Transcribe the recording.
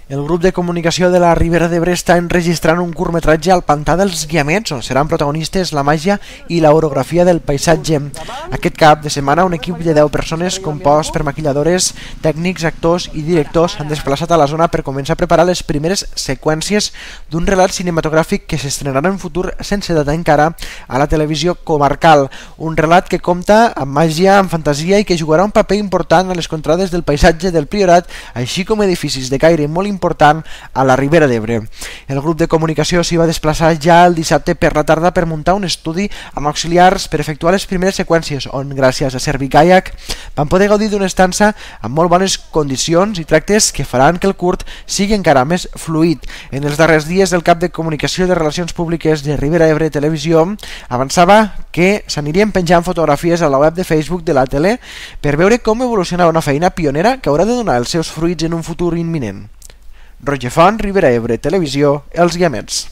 El grup de comunicació de la Ribera d'Ebre està enregistrant un curtmetratge al Pantà dels Guiamets, on seran protagonistes la màgia i l'orografia del paisatge. Aquest cap de setmana un equip de 10 persones compost per maquilladores, tècnics, actors i directors han desplaçat a la zona per començar a preparar les primeres seqüències d'un relat cinematogràfic que s'estrenarà en futur sense data encara a la televisió comarcal. Un relat que compta amb màgia, amb fantasia i que jugarà un paper important a les contrades del paisatge del Priorat, així com edificis de caire molt important a la Ribera d'Ebre. El grup de comunicació s'hi va desplaçar ja el dissabte per la tarda per muntar un estudi amb auxiliars per efectuar les primeres seqüències, on gràcies a Servicaiac van poder gaudir d'una estança amb molt bones condicions i tractes que faran que el curt sigui encara més fluid. En els darrers dies el cap de comunicació de Relacions Públiques de Ribera d'Ebre Televisió avançava que s'anirien penjant fotografies a la web de Facebook de la tele per veure com evoluciona una feina pionera que haurà de donar els seus fruits en un futur imminent. Roger Font, Ribera d'Ebre Televisió, Els Guiamets.